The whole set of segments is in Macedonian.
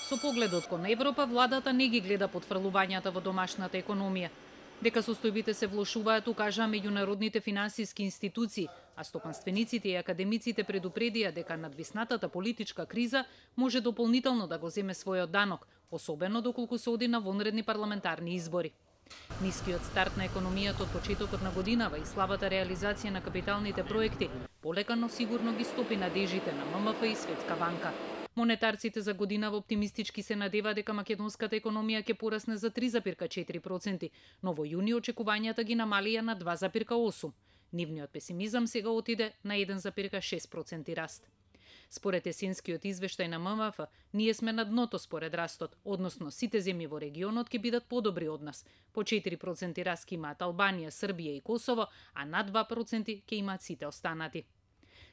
Со погледот кон Европа, владата не ги гледа потфрлувањата во домашната економија. Дека состојбите се влошуваат, укажаа меѓународните финансиски институции, а стопанствениците и академиците предупредија дека надвиснатата политичка криза може дополнително да го земе својот данок, особено доколку се оди на вонредни парламентарни избори. Нискиот старт на економијата од почетокот на годинава и слабата реализација на капиталните проекти полека но сигурно ги стопи надежите на ММФ и Светска банка. Монетарците за годинава оптимистички се надева дека македонската економија ќе порасне за 3,4%, но во јуни очекувањата ги намалија на 2,8%. Нивниот песимизам сега отиде на 1,6% раст. Според есенскиот извештај на ММФ, ние сме на дното според растот, односно сите земји во регионот ќе бидат подобри од нас. По 4% раст ќе имаат Албанија, Србија и Косово, а на 2% ќе имаат сите останати.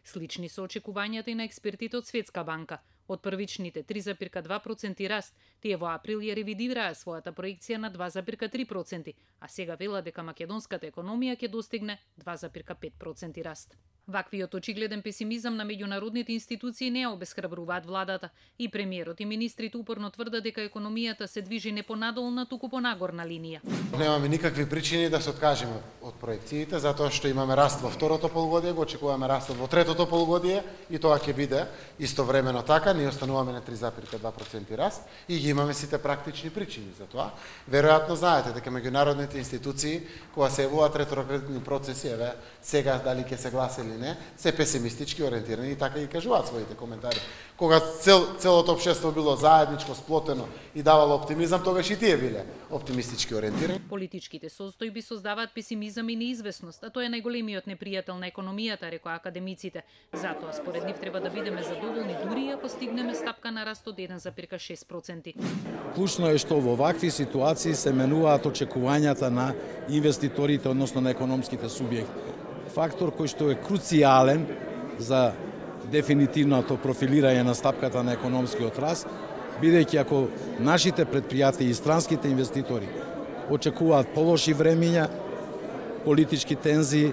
Слични се очекувањата и на експертите од Светска банка. Од првичните 3,2% раст, тие во април ја ревидираа својата проекција на 2,3%, а сега велат дека македонската економија ќе достигне 2,5% раст. Ваквиот очигледен песимизам на меѓународните институции не ја обесхрабруваат владата и премиерот и министрите упорно тврдат дека економијата се движи не понадолна, туку по нагорна линија. Немаме никакви причини да се откажеме од проекциите, затоа што имаме раст во второто полугодие, го очекуваме растот во третото полугодие и тоа ќе биде истовремено така. Ние остануваме на 3,2% раст и ги имаме сите практични причини за тоа. Веројатно знаете дека меѓународните институции кога се јавуваат ретроградни процеси, еве сега дали ќе се гласи или не, се песимистички ориентирани и така ги кажуваат своите коментари. Кога целото општество било заедничко, сплотено и давало оптимизам, тогаш и тие биле оптимистички ориентирани. Политичките состојби создаваат песимизам и неизвестност, а тоа е најголемиот непријател на економијата, рекоа академиците. Затоа според нив треба да бидеме задоволни дури ако стигнеме стапка на раст од 1,6%. Клучно е што во вакви ситуации се менуваат очекувањата на инвеститорите, односно на економските субјекти. Фактор кој што е круцијален за дефинитивното профилирање на стапката на економскиот раст, бидејќи ако нашите претпријатија и странските инвеститори очекуваат полоши времиња, политички тензии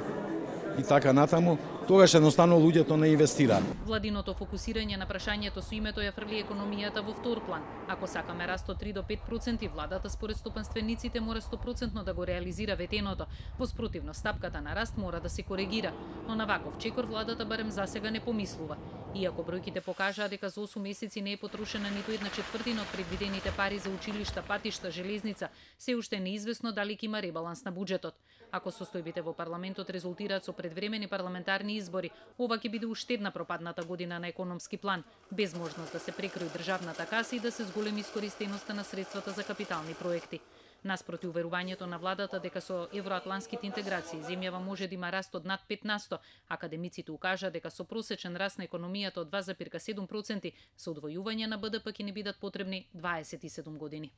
и така натаму, тогаш едноставно луѓето не инвестираат. Владиното фокусирање на прашањето со името ја фрли економијата во втор план. Ако сакаме раст од 3 до 5%, владата според стопанствениците мора 100% да го реализира ветеното. Во спротивно, стапката на раст мора да се коригира. Но на ваков чекор владата барем засега не помислува. Иако бројките покажаа дека за 8 месеци не е потрошена ниту 1/4 од предвидените пари за училишта, патишта, железница, се уште е неизвестно дали ќе има ребаланс на буџетот. Ако состојбите во парламентот резултираат со предвремени парламентарни избори, ова ќе биде уште една пропадната година на економски план, без можност да се прекрои државната каса и да се зголеми искористеноста на средствата за капитални проекти. Наспроти уверувањето на владата дека со евроатланските интеграции земјава може да има раст од над 5%, академиците укажаа дека со просечен раст на економијата од 2,7% со одвојување на БДП ќе не бидат потребни 27 години.